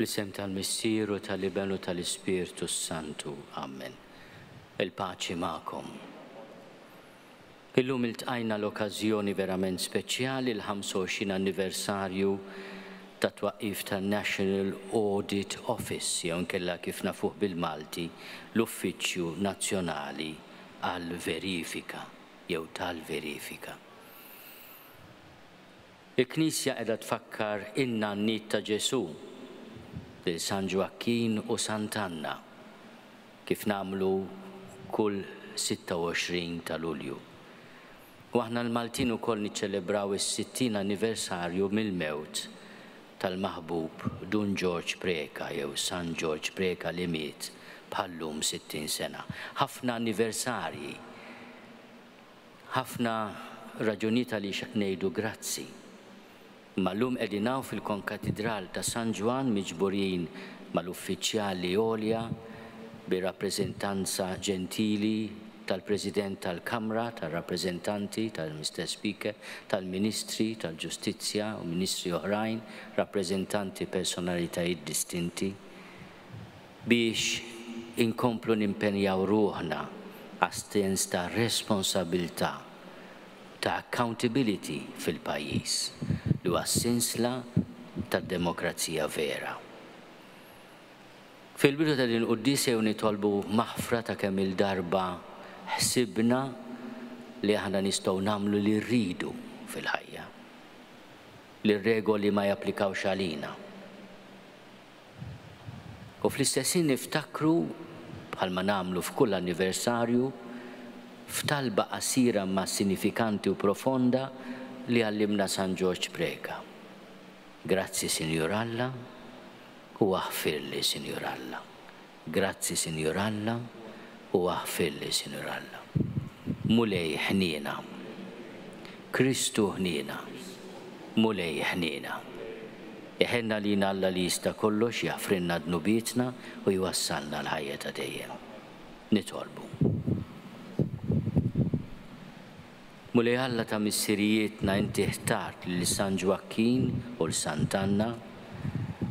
Fl-isem tal-Missier u tal-Iben u tal-Ispirtu s-Santu. Amen. Il-paċi magħkom. Illum iltqajna l-okkażjoni verament speċjali l-25 anniversarju tat-twaqqif tan-National Audit Office jew inkella kif nafuh bil-Malti l-Uffiċċju Nazzjonali għall-Verifika jew tal-Verifika. Il-Knisja qiegħda tfakkar in-nanniet ta' Ġesù, lil San Ġwakkin u Sant'Anna, kif nagħmlu kull 26 ta' Lulju. U aħna l-Maltin ukoll niċċelebraw is-60 anniversarju mill-mewt tal-maħbub Dun Ġorġ Preca jew San Ġorġ Preca li miet bħal-lum 60 sena. Ħafna anniversarji Ħafna raġunijiet għaliex ngħidu grazzi. Imma llum qegħdin hawn fil-Konkatidral ta' San Ġwann miġburin mal-uffiċjali għolja bir-rappreżentanza ġentili tal-President tal-Kamra tar-Rappreżentanti, tal-Mister Speaker, tal-Ministri tal-Ġustizzja u Ministri oħrajn, rappreżentanti personalitajiet distinti. biex inkomplu nimpenjaw ruħna għas-sens ta' responsabilità, ta' accountability fil-pajjiż, li huwa s-sinsla tad-demokrazija vera. Fil-bidu ta' din il-quddiesa jew nitolbu maħfra ta' kemm-il darba ħsibna li aħna nistgħu nagħmlu li rridu fil-ħajja, li r-regoli ma japplikawx għalina. U fl-istess ħin niftakru, bħalma nagħmlu f'kull anniversarju, f'talba qasira imma sinifikanti u profonda li għallimna San Ġorġ Preca. Grazzi Sinjur Alla u aħfirli Sinjur Alla. Grazzi Sinjur Alla u aħfirli Sinjur Alla. Mulej ħniena. Kristu ħniena. Mulej ħniena. Iħenn għalina Alla li jista' kollox jaħfrilna dnubietna u jwassalna l-ħajja ta' dejjem. Nitolbu. Mulej Alla ta' missirijietna inti ħtart lil San Ġwakkin u 'l Sant'Anna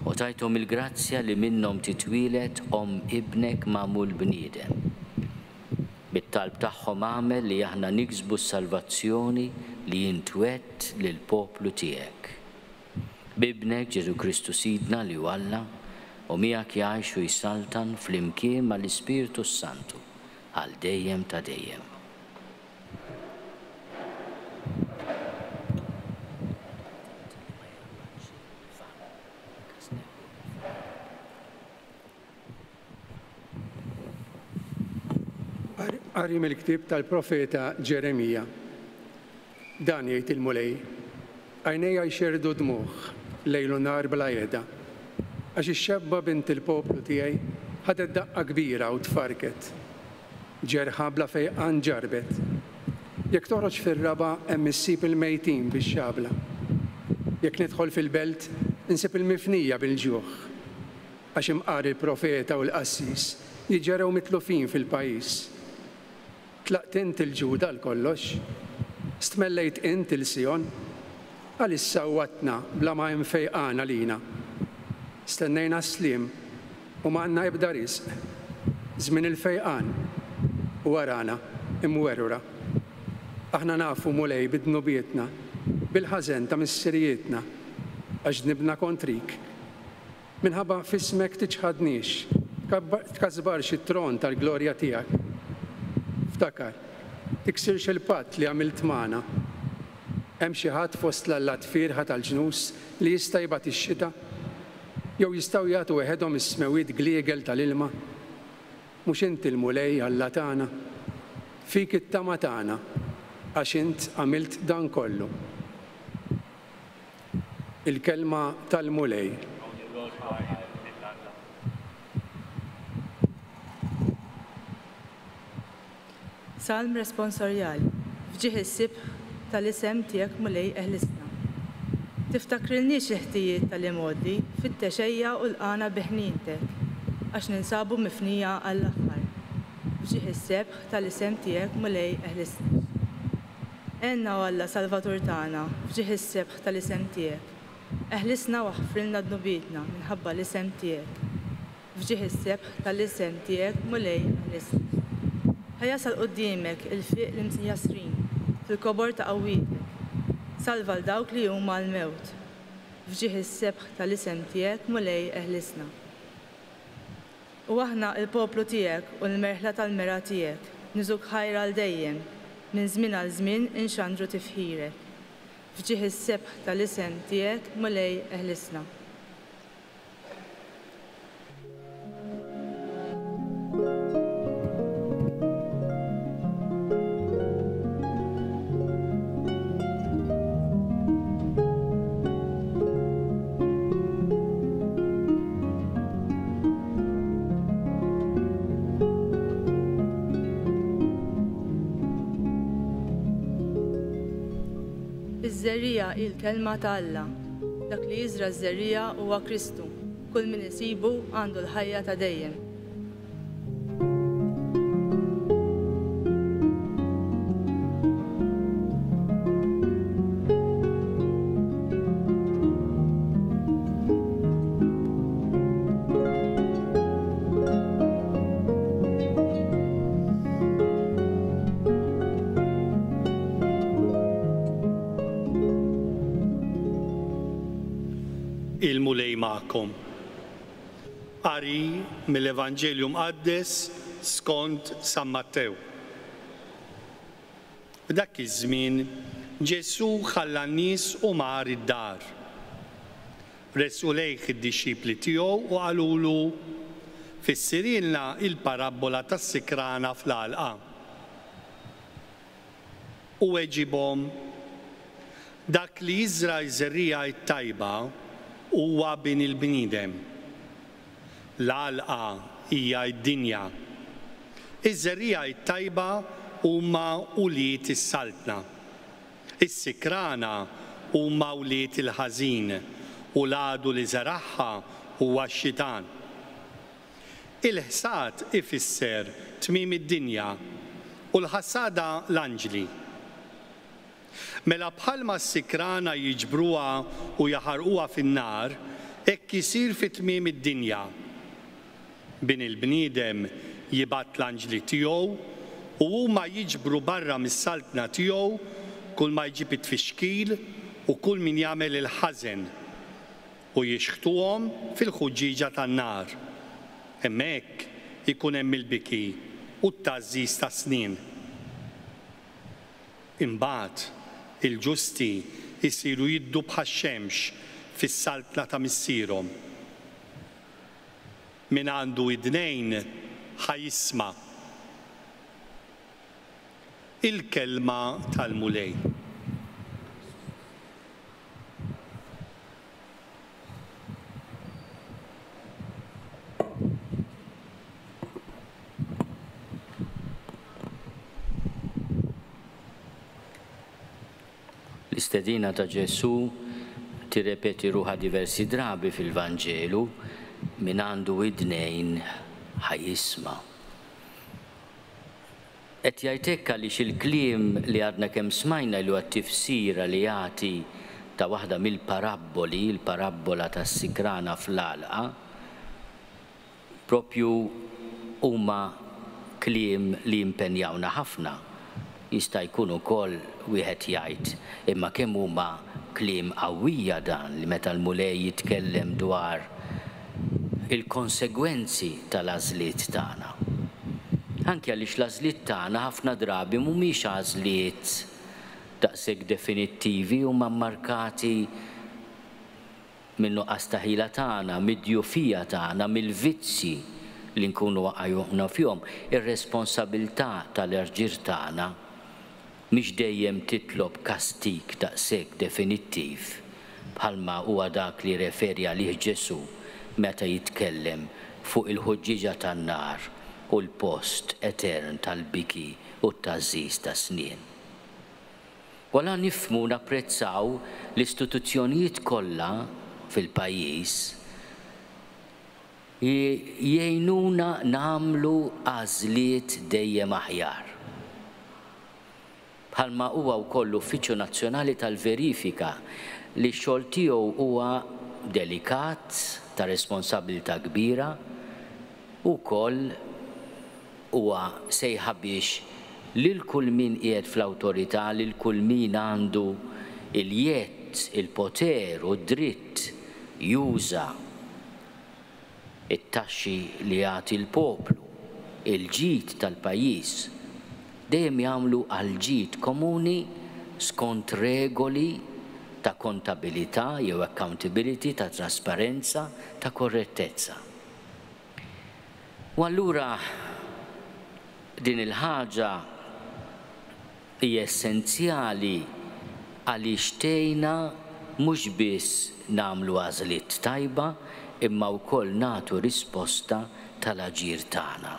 u tajthom il-grazzja li minnhom titwieled omm Ibnek magħmul bniedem. Bit-talb tagħhom agħmel li aħna niksbu s-salvazzjoni li int wegħedt lill-poplu tiegħek. B'Ibnek Ġesù Kristu Sidna li hu Alla, u miegħek jgħix u jsaltan flimkien mal-Ispirtu s-Santu għal dejjem ta' dejjem. Qari mill-ktieb tal-profeta Ġeremija. Dan jgħid il-Mulej, Għajnejja jxerrdu dmugħ lejl u nhar bla heda, għax ix-xebba bint il-poplu tiegħi ħadet daqqa kbira u tfarrket. Ġerħa bla fejqan ġarrbet. Jekk toħroġ fir-raba' hemm issib il-mejtin bix-xabla. Jekk nidħol fil-belt insib il-mifnija bil-ġuħ. Għax imqar il-profeta u l-qassis jiġġerew mitlufin fil-pajjiż. Tlaqt int 'il Ġuda għal kollox? Stmellejt int 'il Sijon? Għaliex sawwatna bla ma hemm fejqan għalina? Stennejna s-sliem u ma għandna ebda riżq. Żmien il-fejqan u arana imwerwra. Aħna nafu, Mulej, bi dnubietna, bil-ħażen ta' missirijietna, għax dnibna kontrik. Minħabba f'ismek tiċħadniex, tkasbarx it-tron tal-glorja tiegħek. Ftakar, tiksirx il-patt li għamilt magħna. Hemm xi ħadd fost l-allat fierħa tal-ġnus li jista' jibgħat ix-xita? Jew jistgħu jagħtu weħedhom is-smewwiet gliegel tal-ilma? Mhux inti l-Mulej Alla tagħna? Fik it-tama tagħna, għax int għamilt dan kollu. Il-Kelma tal-Mulej. Salm Responsorjali, F'ġieħ is-sibħ tal-isem tiegħek Mulej eħlisna. Tiftakrilniex il-ħtijiet tal-imgħoddi, fittex ejja u lqagħna bi ħnientek, għax ninsabu mifnija għall-aħħar. F'ġieħ is-sebħ tal-isem tiegħek Mulej eħlisna. Għenna o Alla Salvatur tagħna, f'ġieħ is-sebħ tal-isem tiegħek. Eħlisna u aħfrilna dnubietna minħabba l-isem tiegħek. F'ġieħ is-sebħ tal-isem tiegħek, Mulej, eħlisna. Ħa jasal quddiemek il-fiq l-imjasrin fil-kobor ta' qawwietek. Salva 'l dawk li huma għall-mewt. F'ġieħ is-sebħ tal-isem tiegħek, Mulej, eħlisna. U aħna l-poplu tiegħek u l-merħla tal-mergħa tiegħek, niżuk ħajr għal dejjem, minn żmien għal żmien inxandru tifħirek. F'ġieħ is-sebħ tal-isem tiegħek, Mulej, eħlisna. Iż-żerriegħa hi l-kelma ta' Alla. Dak li jiżra' ż-żerriegħa huwa Kristu. Kull min isibu għandu l-ħajja ta' dejjem. Il-Mulej magħkom. Qari mill-Evanġelju Mqaddes skont San Mattew. F'dak iż-żmien Ġesù ħalla n-nies u mar id-dar. Resqu lejh id-dixxipli tiegħu u qalulu, Fissirilna l-parabbola tas-sikrana fl-għalqa. Hu weġibhom, Dak li jiżra' ż-żerriegħa t-tajba huwa Bin il-bniedem. L-għalqa hija d-dinja. Iż-żerriegħa t-tajba huma wlied is-Saltna. Is-sikrana huma wlied il-Ħażin, u l-għadu li żeragħha huwa x-Xitan. Il-ħsad ifisser tmiem id-dinja, u l-ħassada l-anġli. Mela bħalma s-sikrana jiġbruha u jaħarquha fin-nar, hekk isir fi tmiem id-dinja. Bin il-bniedem jibgħat l-anġli tiegħu, u huma jiġbru barra mis-saltna tiegħu kulma jġib it-tfixkil u kull min jagħmel il-ħażen, u jixħtuhom fil-ħuġġieġa tan-nar. Hemmhekk ikun hemm il-biki u t-tgħażżiż tas-snien. Imbagħad il-ġusti jsiru jiddu bħax-xemx fis-saltna ta' Missierhom. Min għandu idnejn ħa jisma'. Il-Kelma tal-Mulej. L-istedina ta' Ġesù tirrepeti ruħha diversi drabi fil-Vanġelu, min għandu widnejn ħa jisma'. Qed jgħid hekk għaliex il-kliem li għadna kemm smajna li huwa t-tifsira li jagħti ta' waħda mill-parabboli, il-parabbola tas-sikrana fl-għalqa, propju huma kliem li jimpenjawna ħafna. Jista' jkun ukoll wieħed jgħid, imma kemm huma kliem qawwija dan li meta l-Mulej jitkellem dwar il-konsegwenzi tal-għażliet tagħna. Anki għaliex l-għażliet tagħna ħafna drabi mhumiex għażliet daqshekk definittivi, huma mmarkati min-nuqqas ta' ħila tagħna, mid-djufija tagħna, mill-vizzji li nkunu waqajna fihom. Ir-responsabilità tal-għaġir tagħna mhix dejjem titlob kastig daqshekk definittiv bħalma huwa dak li rreferi għalih Ġesù meta jitkellem fuq il-ħuġġieġa tan-nar u l-post etern tal-biki u t-tgħażżiż tas-snien. Wara nifhmu u napprezzaw l-istituzzjonijiet kollha fil-pajjiż jgħinuna nagħmlu għażliet dejjem aħjar. Bħalma huwa wkoll l-Uffiċċju Nazzjonali tal-Verifika li x-xogħol tiegħu huwa delikat, ta' responsabbiltà kbira, u wkoll huwa sejħa biex lil kull min qiegħed fl-awtorità, lil kull min għandu l-jedd, il-poter u d-dritt juża it-taxxi li jagħti l-poplu, il-ġid tal-pajjiż, dejjem jagħmlu għall-ġid komuni skont regoli ta' kontabilità jew accountability, ta' trasparenza, ta' korrettezza. U allura din il-ħaġa hija essenzjali għaliex tgħinna mhux biss nagħmlu għażliet tajba imma wkoll nagħtu risposta tal-aġir tagħna.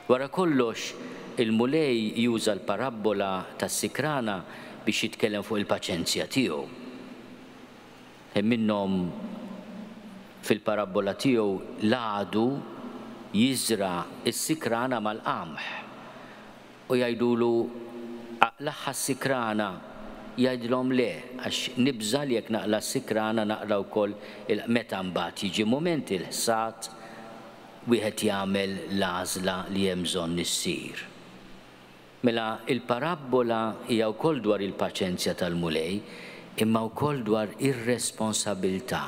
Wara kollox, il-Mulej juża l-parabbola tas-sikrana biex jitkellem fuq il-paċenzja tiegħu. Hemm minnhom fil-parabbola tiegħu l-għadu jiżra' s-sikrana mal-qamħ. U jgħidulu, Aqlagħha s-sikrana. Jgħidilhom, Le, għax nibża' li jekk naqla' s-sikrana naqla' wkoll il Meta mbagħad jiġi mument il-ħsad, wieħed jagħmel l-għażla li hemm bżonn issir. Mela l-parabbola hija wkoll dwar il-paċenzja tal-Mulej, imma wkoll dwar ir-responsabilità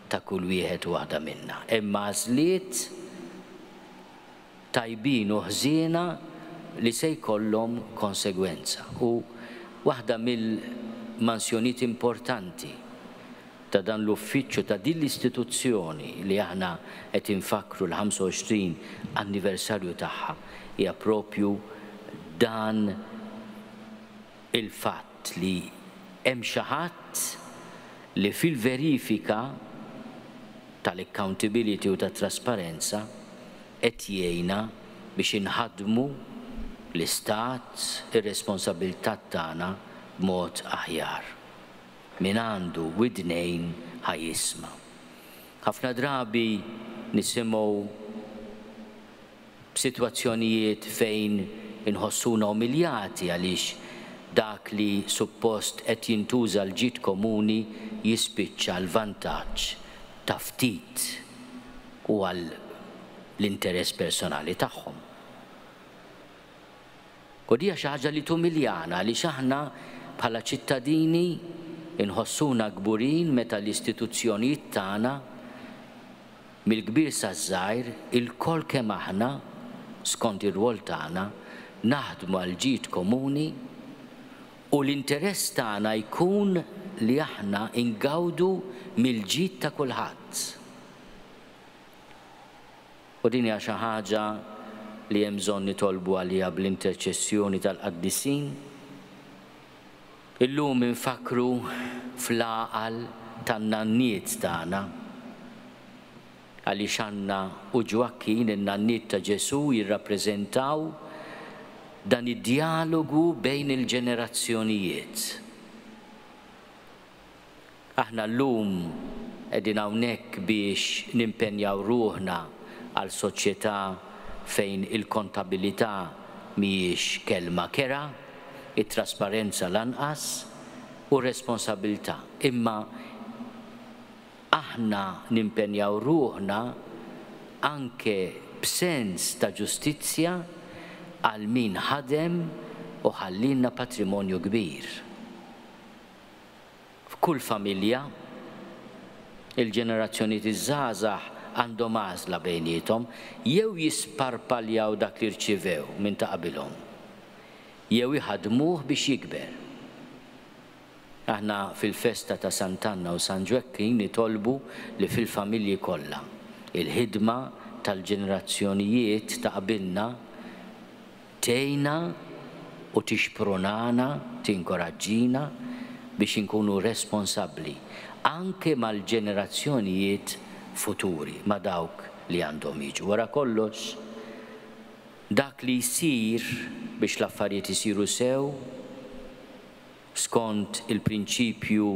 ta' kull wieħed u waħda minna. Hemm għażliet tajbin u ħżiena li se jkollhom konsegwenza. U waħda mill-mansjonijiet importanti ta' dan l-uffiċċju, ta' din l-istituzzjoni li aħna qed infakkru l-25 anniversarju tagħha hija proprju dan il-fatt li hemm xi ħadd li fil-verifika tal-accountability u tat-trasparenza qed jgħinna biex inħaddmu l-istat, ir-responsabbiltà tagħna b'mod aħjar. Min għandu widnejn ħa jisma'. Ħafna drabi nisimgħu b'sitwazzjonijiet fejn inħossuna umiljati għaliex dak li suppost qed jintuża għall-ġid komuni jispiċċa għall-vantaġġ ta' ftit u għal l-interess personali tagħhom. U di hija xi ħaġa li tumiljana għaliex aħna bħala ċittadini nħossuna kburin meta l-istituzzjonijiet tagħna Mill-kbir saż-żgħir, ilkoll kemm aħna, skont ir-rwol tagħna, naħdmu għall-ġid komuni u l-interess tagħna jkun li aħna ngawdu mill-ġid ta' kulħadd. U din hija xi ħaġa li hemm bżonn nitolbu għaliha bl-interċessjoni tal-qaddisin. Illum infakkru fl-għaqal tan-nanniet tagħna, għaliex Anna u Ġwakkin, in-nanniet ta' Ġesù, jirrappreżentaw dan id-djalogu bejn il-ġenerazzjonijiet. Aħna llum qegħdin hawnhekk biex nimpenjaw ruħna għal soċjetà fejn il-kontabilità mhijiex kelma kerha, it-trasparenza lanqas, u r-responsabilità. Imma aħna nimpenjaw ruħna anke b'sens ta' ġustizzja għal min ħadem u ħallielna patrimonju kbir. F'kull familja, il-ġenerazzjonijiet iż-żgħażagħ għandhom għażla bejniethom, jew jisparpaljaw dak li rċivew minn ta' qabilhom, jew iħaddmuh biex jikber. Aħna fil-festa ta' Sant'Anna u San Ġwekkin nitolbu li fil-familji kollha, il-ħidma tal-ġenerazzjonijiet ta' qabilna Tgħinna u tixprunana, tinkoraġġina biex inkunu responsabbli anke mal-ġenerazzjonijiet futuri, ma' dawk li għandhom jiġu. Wara kollox, dak li jsir biex l-affarijiet isiru sew, skont il-prinċipju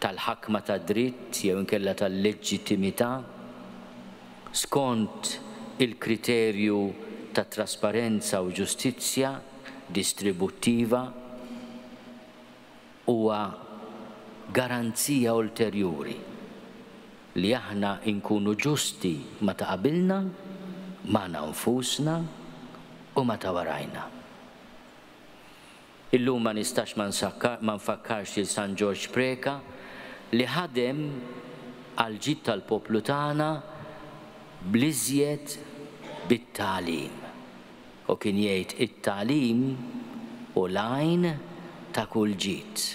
tal-ħakma tad-dritt jew inkella tal-leġittimità, skont il-kriterju ta' trasparenza u ġustizzja distributtiva, huwa garanzija ulterjuri li aħna nkunu ġusti ma' ta' qabilna, magħna nfusna u ma' ta' warajna. Illum ma nistax ma nfakkarx lil San Ġorġ Preca li ħadem għall-ġid tal-poplu tagħna bl-iżjed bit-tagħlim. U kien jgħid it-tagħlim hu l-għajn ta' kull ġid.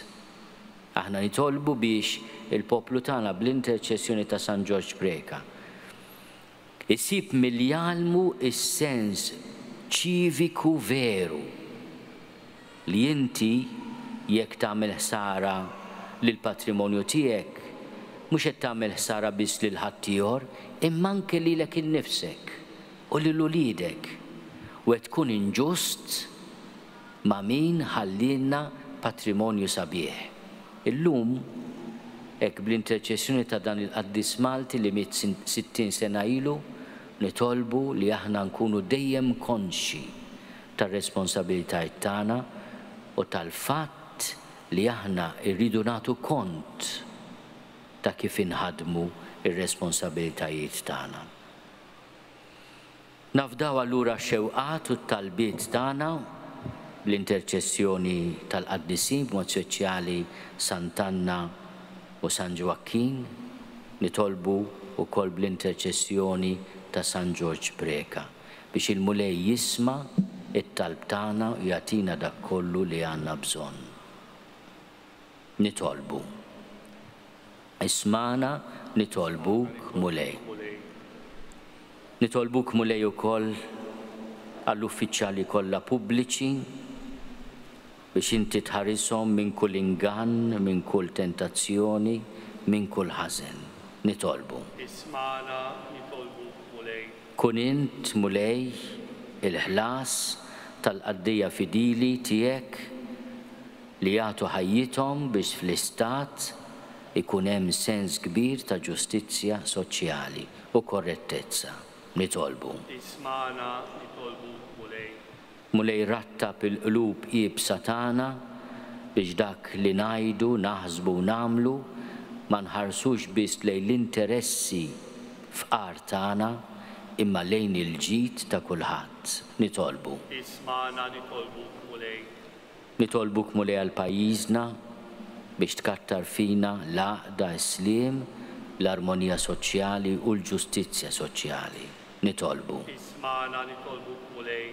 Aħna nitolbu biex il-poplu tagħna bl-interċessjoni ta' San Ġorġ Preca isib milli jgħallmu s-sens ċiviku veru li inti jekk tagħmel ħsara lill-patrimonju tiegħek mhux qed tagħmel ħsara biss lil ħaddieħor imma anke lilek innifsek u lil uliedek u qed tkun inġust ma' min ħallielna patrimonju sabiħ. Illum, hekk bl-interċessjoni ta' dan il-qaddis Malti li miet 60 sena ilu, nitolbu li aħna nkunu dejjem konxji tar-responsabilitajiet tagħna u tal-fatt li aħna rridu nagħtu kont ta' kif inħaddmu r-responsabilitajiet tagħna. Nafdaw allura x-xewqat u t-talbiet tagħna bl-interċessjoni tal-qaddisin, b'mod speċjali Sant'Anna u San Ġwakkin, nitolbu wkoll bl-interċessjoni ta' San Ġorġ Preca, biex il-Mulej jisma' t-talb tagħna u jagħtina dak kollu li għandna bżonn. Nitolbu. Ismagħna nitolbuk, Mulej. Nitolbuk, Mulej, ukoll għall-uffiċjali kollha pubbliċi biex inti tħarishom minn kull ingann, minn kull tentazzjoni, minn kull ħażen. Nitolbu. Ismagħna nitolbuk, Mulej. Kun int, Mulej, il-ħlas tal-qaddejja fidili tiegħek li jagħtu ħajjithom biex fl-istat ikun hemm sens kbir ta' ġustizzja soċjali u korrettezza. Nitolbu. Ismagħna, nitolbuk, Mulej. Mulej rattab il-qlub iebsa tagħna biex dak li ngħidu, naħsbu u nagħmlu ma nħarsux biss lejn l-interessi fqar tagħna imma lejn il-ġid ta' kulħadd. Nitolbu. Ismagħna, nitolbuk, Mulej. Nitolbuk Mulej għal pajjiżna biex tkattar fina l-għaqda, is-sliem, l-armonija soċjali u l-ġustizzja soċjali. Nitolbu. Ismagħna nitolbuk Mulej.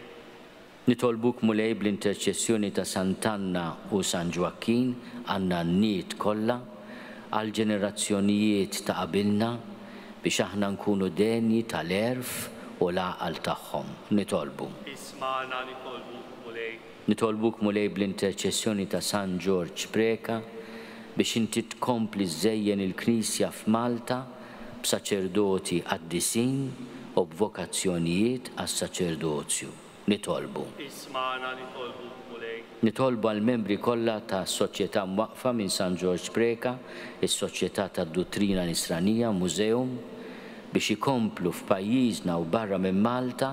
Nitolbuk Mulej bl-interċessjoni ta' Sant'Anna u San Ġwakkin għan-nanniet kollha, għall-ġenerazzjonijiet ta' qabilna biex aħna nkunu denji tal-għerf u l-għaqal tagħhom. Nitolbu. Ismagħna nitolbuk Mulej. Nitolbuk Mulej bl-interċessjoni ta' San Ġorġ Preca biex inti tkompli żżejjen il-Knisja f'Malta b'saċerdoti qaddisin u b'vokazzjonijiet għas-saċerdozju. Nitolbu. Ismagħna nitolbuk Mulej. Nitolbu għall-membri kollha tas-Soċjetà mwaqqfa minn San Ġorġ Preca, is-Soċjetà tad-Duttrina Nisranija, Museum, biex ikomplu f'pajjiżna u barra minn Malta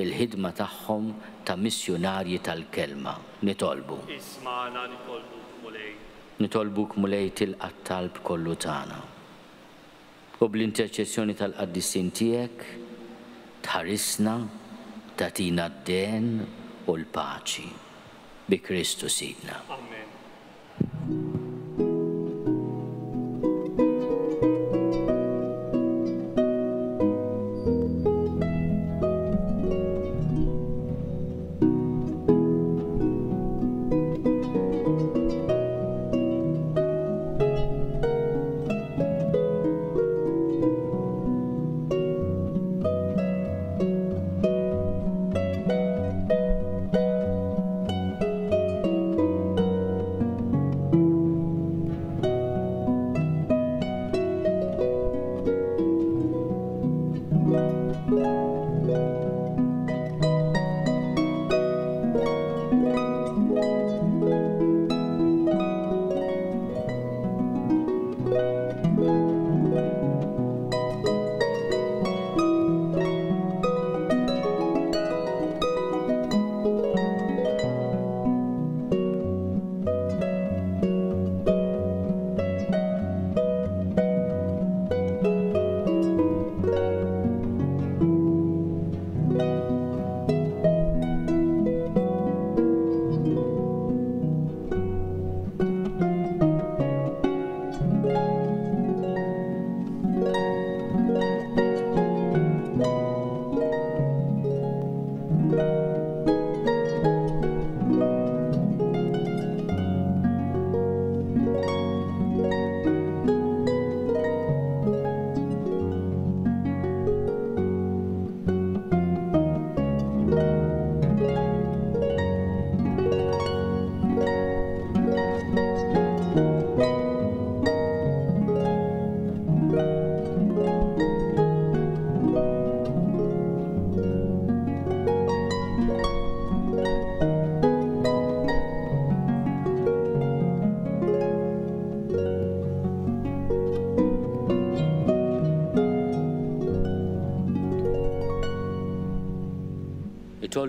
il-ħidma tagħhom ta' missjunarji tal-Kelma. Nitolbu. Ismagħna nitolbuk, Mulej. Nitolbuk, Mulej, tilqa' t-talb kollu tagħna. U bl-interċessjoni tal-qaddisin tiegħek tħarisna, tagħtina d-dehen u l-paċi. Bi Kristu Sidna. Amen.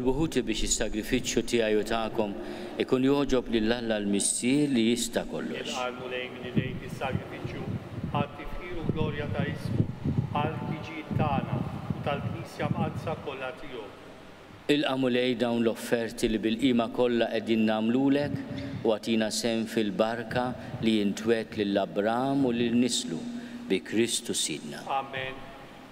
Itolbu ħuti biex is-sagrifiċċju tiegħi u tagħkom ikun jogħġob lil Alla l-Missier li jista' kollox. Jilqa' l-Mulej minn idejk is-sagrifiċċju għat-tifħir u glorja ta' ismu, għall-ħtiġijiet tagħna u tal-Knisja Mqaddsa kollha tiegħu. Ilqa' Mulej dawn l-offerti li bil-qima kollha qegħdin nagħmlulek u agħtina sehem fil-barka li int wegħedt lil Abram u lil nislu, bi Kristu Sidna. Amen.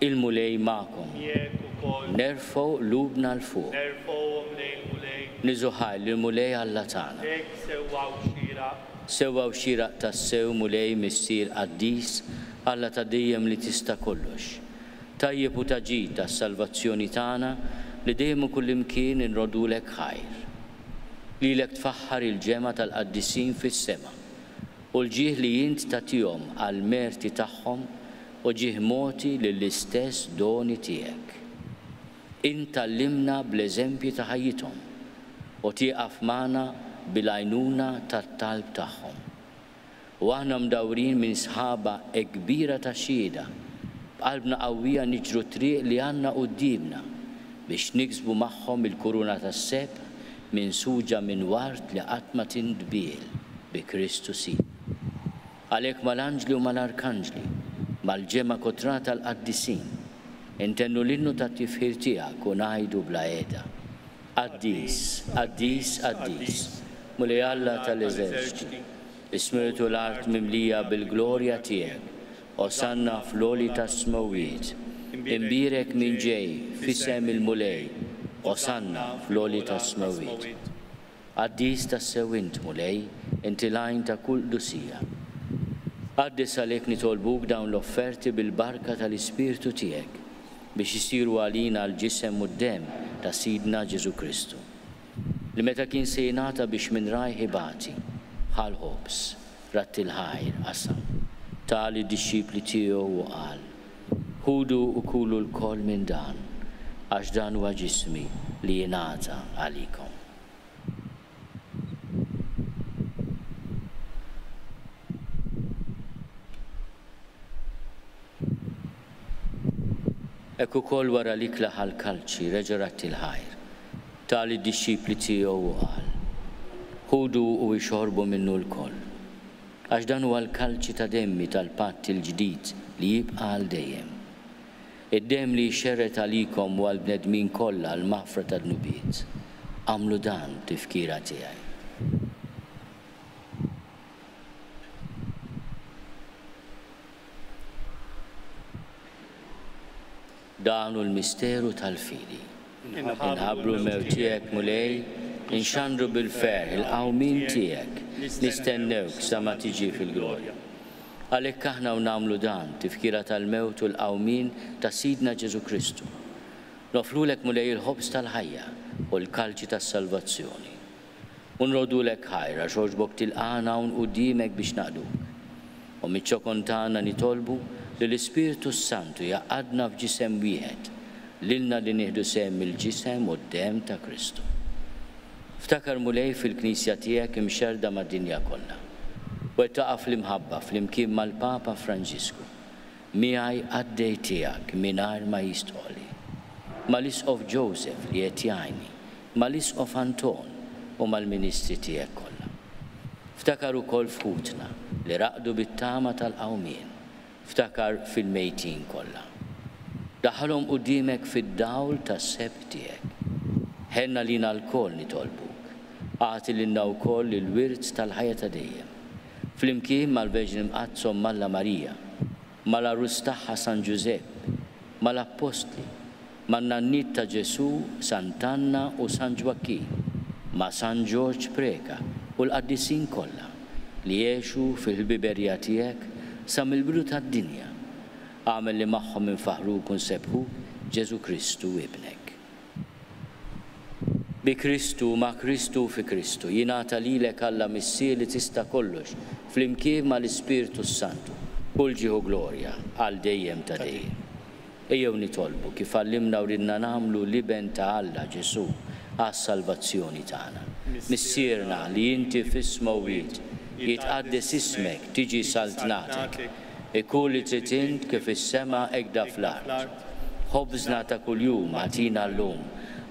Il-Mulej magħkom. Miegħek ukoll. Nerfgħu qlubna 'l fuq. Nerfgħuhom lejn il-Mulej. Niżu ħajr lill-Mulej Alla tagħna. Hekk sewwa u xieraq. Sewwa u xieraq tassew, Mulej, Missier qaddis, Alla ta' dejjem li tista' kollox. Tajjeb u ta' ġid għas-salvazzjoni tagħna li dejjem u kullimkien inroddulek ħajr. Lilek tfaħħar il-ġemgħa tal-qaddisin fis-sema, u l-ġieħ li int tagħtihom għall-merti tagħhom u ġieħ mogħti lill-istess doni tiegħek. Int tgħallimna bl-eżempji ta' ħajjithom, u tieqaf magħna bil-għajnuna tat-talb tagħhom. U aħna mdawrin minn sħaba hekk kbira ta' xhieda, b'qalbna qawwija niġru t-triq li għandna quddiemna biex niksbu magħhom il-kuruna tas-sebħ minsuġa minn ward li qatt ma tindbiel bi Kristu Sidna. Għalhekk mal-anġli u mal-arkanġli, mal-ġemgħa kotra tal-qaddisin, intennu l-innu tat-tifħir tiegħek u ngħidu bla heda, Qaddis, qaddis, qaddis, Mulej Alla tal-eżerċti, is-smewwiet u l-art mimlija bil-glorja tiegħek, Osanna fl-għoli tas-smewwiet. Imbierek min ġej f'isem il-Mulej, Osanna fl-għoli tas-smewwiet. Qaddis tassew int, Mulej, inti l-għajn ta' kull qdusija. Qaddes għalhekk nitolbuk dawn l-offerti bil-barka tal-Ispirtu tiegħek, biex isiru għalina l-ġisem u d-demm ta' Sidna Ġesù Kristu, li meta kien se jingħata biex minn rajh ibati, ħa l-ħobż, radd il-ħajr, qasam, ta lid-dixxipli tiegħu u qal, Ħudu u kulu lkoll minn dan, għax dan huwa ġismi li jingħata għalikom. Hekk ukoll wara l-ikla ħa l-kalċi, reġa' radd il-ħajr, ta lid-dixxipli tiegħu u qal, Ħudu u ixorbu minnu lkoll, għax dan huwa l-kalċi ta' demmi tal-patt il-ġdid li jibqa' għal dejjem. Id-demm li jxerred għalikom u għall-bnedmin kollha għall-maħfra tad-dnubiet. Agħmlu dan b'tifkira tiegħi. Dan hu l-misteru tal-fidi. Inħabbru l-mewt tiegħek, Mulej, inxandru bil-ferħ il-qawmien tiegħek, nistennewk sa ma tiġi fil-glorja. Għalhekk aħna u nagħmlu dan, tifkira tal-mewt u l-qawmien ta' Sidna Ġesù Kristu. Noffrulek, Mulej, il-ħobż tal-ħajja u l-kalċi tas-salvazzjoni. U nroddulek ħajr għax għoġbok tilqagħna hawn quddiemek biex naqduk. U miċ-ċokon tagħna nitolbu li l-Ispirtu s-Santu jgħaqqadna f'ġisem wieħed, lilna li nieħdu sehem mill-ġisem u d-demm ta' Kristu. Ftakar Mulej fil-Knisja tiegħek imxerrda mad-dinja kollha. Wettaqha fl-imħabba flimkien mal-Papa Franġisku, miegħi qaddej tiegħek mingħajr ma jistqoli, mal-Isqof Joseph li qed jgħinni, mal-Isqof Anton u mal-ministri tiegħek kollha. Ftakar ukoll f'ħutna li raqdu bit-tama tal-qawmien, ftakar fil-mejtin kollha. Daħħalhom quddiemek fid-dawl tas-sebħ tiegħek. Ħenn għalina lkoll nitolbuk. Agħti lilna wkoll il-wirt tal-ħajja ta' dejjem. Flimkien mal-Verġni Mqaddsa Omm Alla Marija, mal-għarus tagħha San Ġużepp, mal-Appostli, man-nanniet ta' Ġesù, Sant'Anna u San Ġwakkin, ma' San Ġorġ Preca u l-qaddisin kollha li għexu fil-ħbiberija tiegħek sa mill-bidu tad-dinja, agħmel li magħhom infaħħruk u nsebbħuk Ġesù Kristu Ibnek. Bi Kristu, ma' Kristu u fi Kristu, jingħata lilek Alla Missier li tista' kollox, flimkien ma' l-Ispirtu s-Santu, kull ġieħ u glorja, għal dejjem ta' dejjem. Ejjew nitolbu, kif għallimna u ridna nagħmlu l-Iben ta' Alla, Ġesù, għas-salvazzjoni tagħna. Missierna li inti fis-smewwiet, jitqaddes ismek, tiġi saltnatek. Ikun li trid int kif fis-sema hekk da fl-art. Ħobżna ta' kuljum agħtina llum.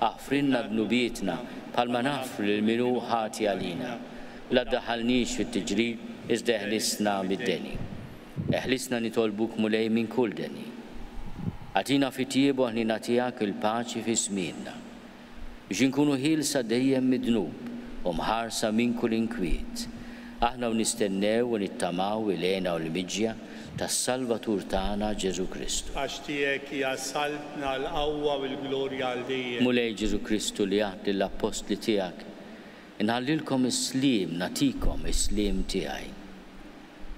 Aħfrilna dnubietna bħalma naħfru lil min hu ħati għalina. La ddaħħalniex fit-tiġrib, iżda eħlisna mid-deni. Eħlisna nitolbuk Mulej minn kull deni. Agħtina fit-tjieba u ħniena tiegħek il-paċi fi żmienna. Biex inkunu ħielsa dejjem mid-dnub u mħarsa minn kull inkwiet, aħna u nistennew u nittamaw il-hena u l-miġja tas-Salvatur tagħna Ġesù Kristu. Għax tiegħek hija s-saltna, l-qawwa u l-glorja għal dejjem. Mulej Ġesù Kristu li għidt lill-appostli tiegħek, Inħallilkom is-sliem, nagħtikom is-sliem tiegħi.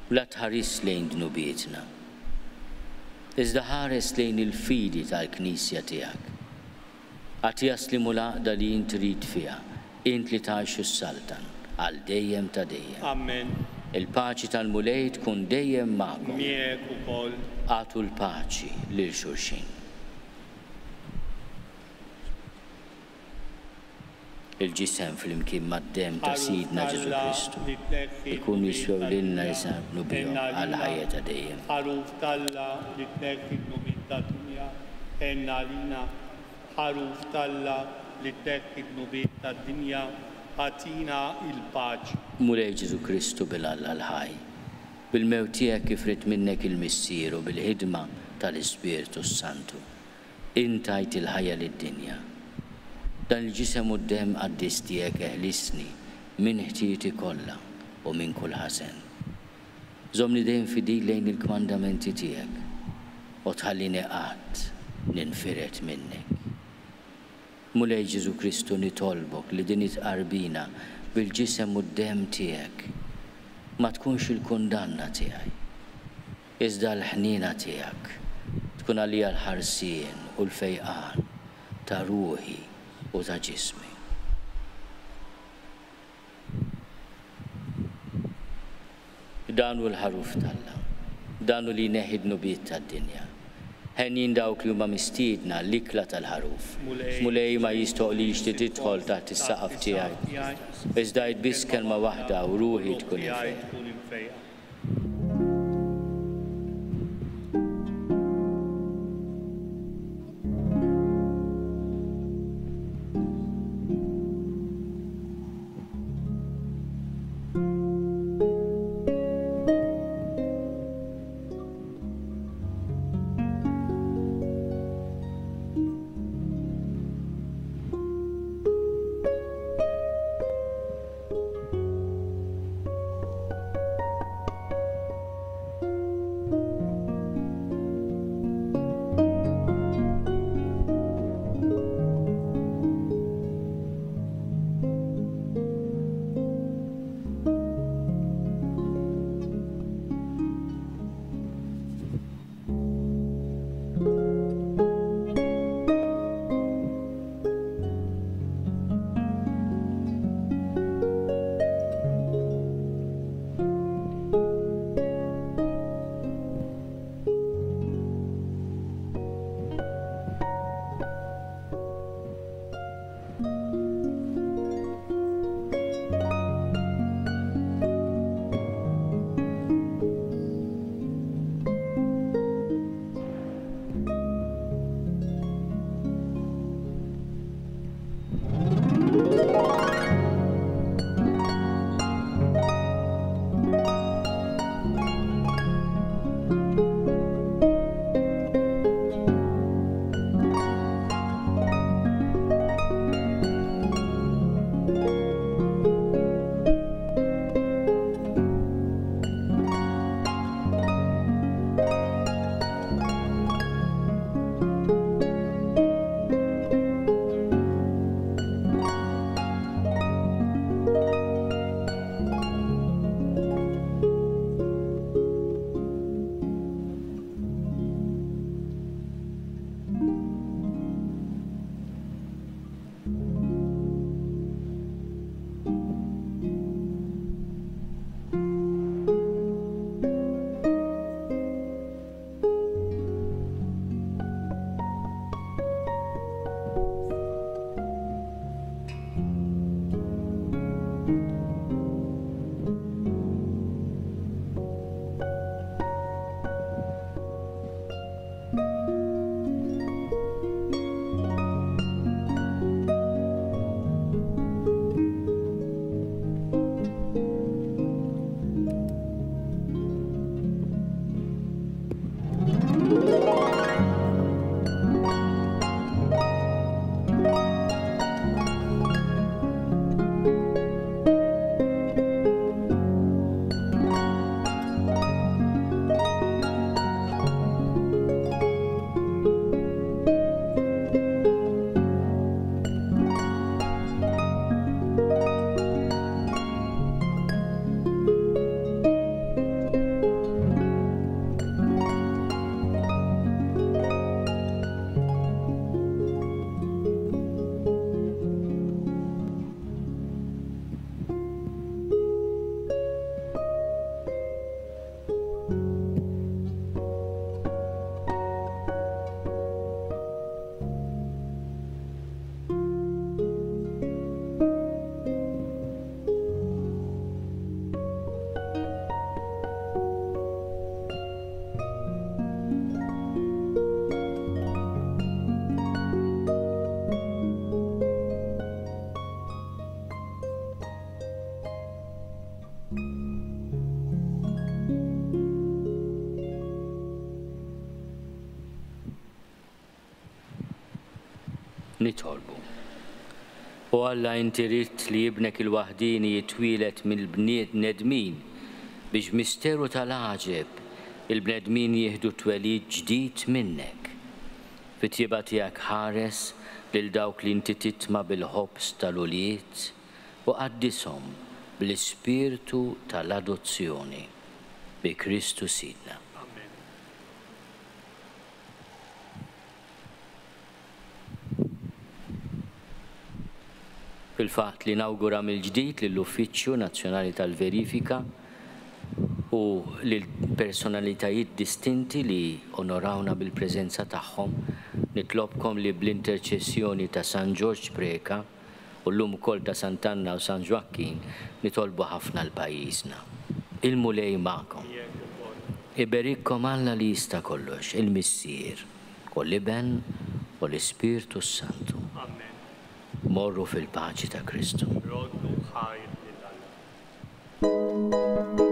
U la tħarisx lejn dnubietna, iżda ħares lejn il-fidi tal-Knisja tiegħek. Agħtiha s-sliem u l-għaqda li int trid fiha, int li tgħix u ssaltan għal dejjem ta' dejjem. Ammen. Il-paċi tal-Mulej tkun dejjem magħkom. Miegħek ukoll. Agħtu l-paċi lil xulxin. Il-ġisem flimkien mad-demm ta' Ħaruf Sidna Ġesù t'Alla Kristu li tneħħi jkunu d-dnubiet jiswew lilna tad-dinja, li se naqblu bihom għenna għalina. għall-ħajja ta' dejjem. Ħaruf t'Alla li tneħħi d-dnubiet tad-dinja, għenna għalina. Ħaruf t'Alla li tneħħi d-dnubiet tad-dinja, agħtina l-paċi. Mulej Ġesù Kristu bil Alla l-ħaj, bil-mewt tiegħek kif ried minnek il-Missier u bil-ħidma tal-Ispirtu s-Santu, int tajt il-ħajja lid-dinja. Dan il-Ġisem u d-Demm qaddis tiegħek eħlisni minn ħtieti kollha u minn kull ħażen. Żommni dejjem fidil lejn il-kmandamenti tiegħek, u tħallini qatt ninfired minnek. Mulej Ġesù Kristu nitolbok li din it-tqarbina bil-Ġisem u d-Demm tiegħek ma tkunx il-kundanna tiegħi, iżda l-ħniena tiegħek tkun għalija l-ħarsien u l-fejqan ta' ruħi u ta' ġismi. Dan hu l-Ħaruf t'Alla. Dan hu li jneħħi d-dnubiet tad-dinja. Henjin dawk li huma mistiedna għall-ikla tal-Ħaruf. Mulej, ma jistħoqlix li tidħol taħt is-saqaf tiegħi, iżda għid biss kelma waħda u ruħi tkun imfejqa. Nitolbu. O Alla inti ridt li Ibnek il-waħdieni jitwieled mill-bnedmin biex b'misteru tal-għaġeb il-bnedmin jieħdu twelid ġdid minnek. Fit-tjieba tiegħek ħares lil dawk li inti titma' bil-ħobż tal-ulied u qaddishom bl-ispirtu tal-adozzjoni. Bi Kristu Sidna. Amen. Fil-fatt li nawgura mill-ġdid lill-Uffiċċju Nazzjonali tal-Verifika u lill-personalitajiet distinti li onorawna bil-preżenza tagħhom, nitlobkom li bl-interċessjoni ta' San Ġorġ Preca u llum ukoll ta' Sant'Anna u San Ġwakkin nitolbu ħafna għal pajjiżna. Il-Mulej magħkom. Iberikkom Alla li jista' kollox, il-Missier, u l-Iben, u l-Ispirtu s-Santu. Amen. Morru fil-paċi ta' Kristu. Roddu ħajr lil Alla.